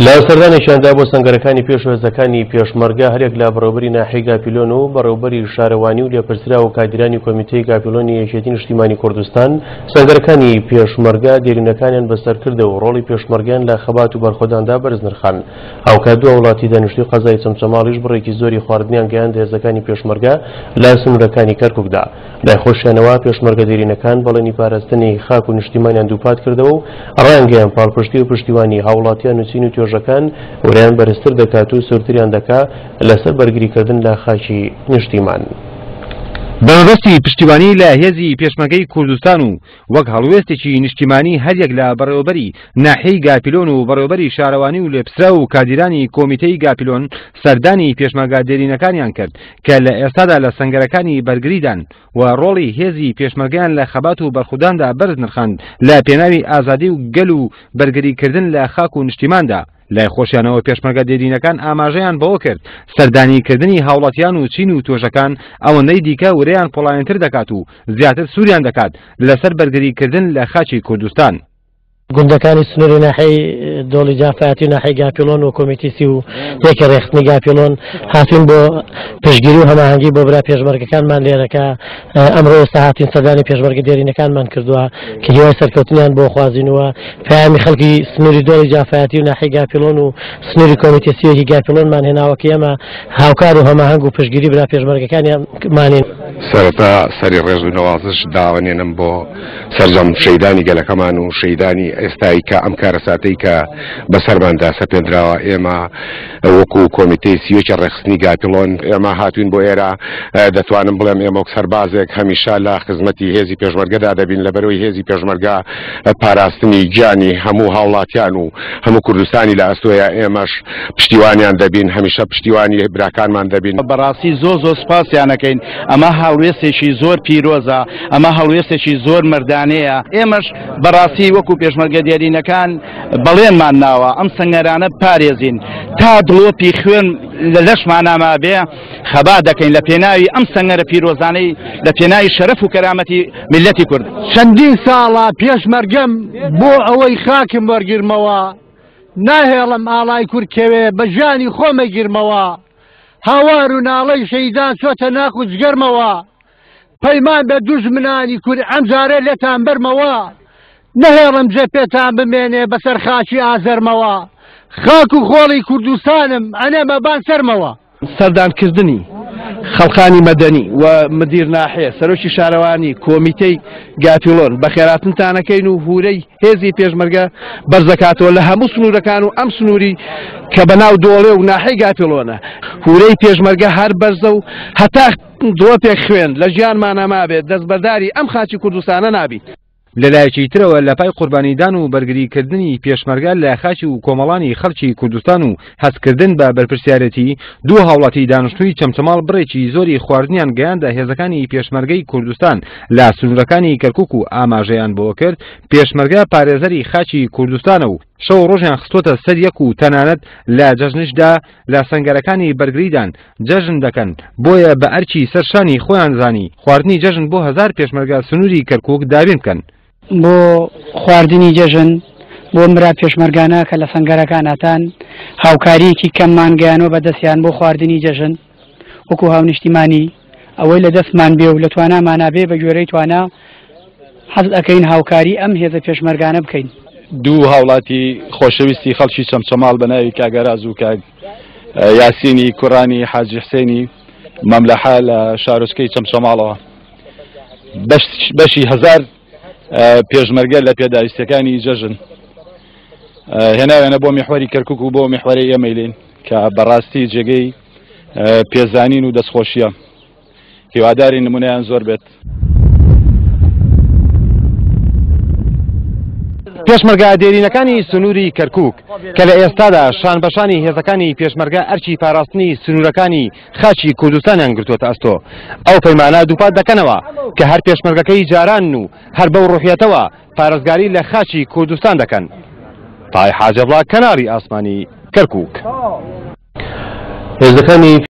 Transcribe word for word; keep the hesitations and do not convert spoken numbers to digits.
لە سەردانێکیاندا بۆ سەنگەرەکانی پێش هێزەکانی پێشمەرگە هەرێک لە بەڕێوەبەری ناحیەی گاپیلۆن و بەڕێوەبەری شارەوانی و لێپرسراو و کادیرانی کۆمیتەی گاپیلۆنی یەکێتی نیشتیمانی کوردستان سەنگەرەکانی پێشمەرگە دێرینەکانیان بەسەرکردە و ڕۆڵی پێشمەرگەیان لە خەبات و بەرخۆداندا بەرز نرخان. هاوکات دوو وڵاتی دانیشتووی قەزای چەمچەماڵیش بڕێکی زۆری خواردنیان گەیاند هێزەکانی پێشمەرگە لە سنوورەکانی کەرکوکدا. لای خۆشیانەوە پێشمەرگە دێرینەکان بەڵێنی پاراستنی خاک و نیشتیمانیان دووپات کردەوە و ڕایانگەیان پاڵپشتی و پشتیوانی هاوڵاتیان و چین و توێژەکان ورەیان بەرزتر دەکات و سوورتریان دەکات لەسەر بەرگریکردن لە خاکی نیشتیمان. بە مەبەستی پشتیوانی لە هێزی پێشمەرگەی کوردستان و وەک هەڵوێستێکی نیشتیمانی هەریەک لە بەڕێوەبەری ناحیەی گاپیلۆن و بەڕێوەبەری شارەوانی و لێپرسراو و کادیرانی کۆمیتەی گاپیلۆن سەردانی پێشمەرگە دێرینەکانیان کرد کە لە ئێستادا لە سەنگەرەکانی بەرگریدان و ڕۆڵی هێزی پێشمەرگەیان لە خەبات و بەرخوداندا بەرز نرخاند لە پێناوی ئازادی و گەل و بەرگریکردن لە خاک و نیشتیماندا. لای خۆشیانەوە پێشمەرگە دێرینەکان ئاماژەیان بەوە کرد سەردانیکردنی هاوڵاتیان و چین و توێژەکان ئەوەندەی دیکە ورەیان پۆڵایەنتر دەکات و زیاتر سووریان دەکات لەسەر بەرگریکردن لە خاکی کوردستان. گوندەکانی سنووری ناحیەی دۆڵی جافایەتی و ناحیەی گاپیلۆن و کۆمیتی سی و یەکی ڕێکخستنی گاپیلۆن هاتوین بۆ پشتگیری و هەماهەنگی بۆ برا پێشمەرگەکانمان لێرەکە ئەمڕۆ ئێستا هاتین سەردانی پێشمەرگە دێرینەکانمان کردووە کە هیوای سەرکەوتنیان بۆ خوازینەوە. پەیامی خەڵکی سنووری دۆڵی جافایەتی و ناحیەی گاپیلۆن و سنووری کۆمیتی سی و یەکی گاپیلۆنمان هێناوە کە ئێمە هاوکار و هەماهەنگ و پشتگیری برا پێشمەرگەکانیانمانین. سەرەتا سەری ڕێز و نەوازش داوەنێنم بۆ سەرجەم شەیدانی گەلەکەمان و شەیدانی ئێستایی کە ئەم کارەساتەی کە بەسەرماندا سەپێنراوە. ئێمە وەکو کۆمیتەی سی و یەکی ڕێکخستنی گاپیلۆن ئێمە هاتوین بۆ ئێرە. دەتوانم بڵێم ئێمە وەک سەربازێک هەمیشە لە خزمەتی هێزی پێشمەرگەدا دەبین، لەبەرەوەی هێزی پێشمەرگە پاراستنی گیانی هەموو هاوڵاتیان و هەموو کوردستانی لە ئەستۆیە. ئێمەش پشتیوانیان دەبین، هەمیشە پشتیوانی براکانمان دەبین. بەڕاستی زۆر زۆر سپاسیانەکەین. ئەمە هەڵوێستێکی زۆر پیرۆزە، ئەمە هەڵوێستێکی زۆر مەردانەیە. ئێمەش بەڕاستی وەکو پێشمەرگە دێرینەکان بەڵێنمان ناوە ئەم سەنگەرانە پارێزین تا دڵۆپی خوێن لە لەشمانە مابێ خەبات دەکەین لە پێناوی ئەم سەنگەرە پیرۆزانەی لە پێناوی شەرەف و کەرامەتی میللەتی کورد. چەندین ساڵە پێشمەرگەم بۆ ئەوەی خاکم وەرگرمەوە، ناهێڵم ئاڵای کورد کەوێ بە ژیانی خۆمەگیرمەوە. هاوار و ناڵەی شەیدان چۆتە ناخ و جگەرمەوە، پەیمان بە دوژمنانی کورد ئەمجارە لێتان بەرمەوە. نەهێڵم جێ پێتان بمێنێ بەسەر خاکی ئازەرمەوە، خاک و خۆڵی کوردستانم ئەنێمە بان سەرمەوە. سەردانکردنی خەڵکانی مەدەنی و مدیر ناحیە، سەرۆکی شارەوانی، کۆمیتەی گاپیلۆن بەخێراتنتانەکەین و هورەی هێزی پێشمەرگە بەرزەکاتەوە لە هەموو سنوورەکان و ئەم سنووری کە بەناو دۆڵێ و ناحیەی گاپیلۆنە. هورەی پێشمەرگە هەر بەرزە و هەتا دڵۆپێک خوێن لە ژیانمانە مابێت دەستبەرداری ئەم خاکی کوردستانە نابین. لەلایەکی ترەوە لە پای قوربانیدان و بەرگریکردنی پێشمەرگە لە خاکی و کۆمەڵانی خەڵکی کوردستان و هەستکردن بە بەرپرسیارەتی دوو هاوڵاتی دانیشتووی چەمچەماڵ بڕێکی زۆری خواردنیان گەیاندە هێزەکانی پێشمەرگەی کوردستان لە سنوورەکانی کەرکوک و ئاماژەیان بۆ کرد پێشمەرگە پارێزەری خاکی کوردستانە و شەو ڕۆژیان خستۆتە سەر یەک و تەنانەت لە جەژنشدا لە سەنگەرەکانی بەرگریدان جەژن دەکەن، بۆیە بە ئەرکی سەرشانی خۆیان زانی خواردنی جەژن بۆ هەزار پێشمەرگە سنووری کەرکوک دابین بکەن. بۆ خواردنی جەژن بۆ مرا پێشمەرگانە کە لە سەنگەرەکاناتان هاوکاریەکی کەممان گەیانەوە بەدەستیان بۆ خواردنی جەژن وەکو هاونیشتیمانی ئەوەی لە دەستمان بێ و لە توانامانە بێ بە گوێرەی توانا حەز ئەەکەین هاوکاری ئەم هێزە پێشمەرگانە بکەین. دوو هاوڵاتی خۆشەویستی خەڵکی چەمچەماڵ بە ناوی کاگەراز و کاگ یاسینی کوڕانی حاجی حسێنی مەملەحە لە شارۆچکەی چەمچەماڵەوە بەشی هەزار پێشمەرگە لە پێداویستیەکانی جەژن هێناویانە بۆ میحوەری کەرکوک و بۆ میحوەری ئێمەیلین کە بەڕاستی جێگەی پێزانین و دەستخۆشیە. هیواداری نمونەیان زۆر بێت. پێشمەرگە دێرینەکانی سنووری کەرکوک کە لە ئێستادا شانبەشانی هێزەکانی پێشمەرگە ئەرکی پاراستنی سنوورەکانی خاکی کوردستانیان گرتووەتە ئەستۆ، ئەو پەیمانە دووپات دەکەنەوە کە هەر پێشمەرگەکەی جاران و هەر بەو ڕوحیەتەوە پارێزگاری لە خاکی کوردستان دەکەن. تای حاجەبڵا، کەناڵی ئاسمانی کەرکوک. هێزەکانی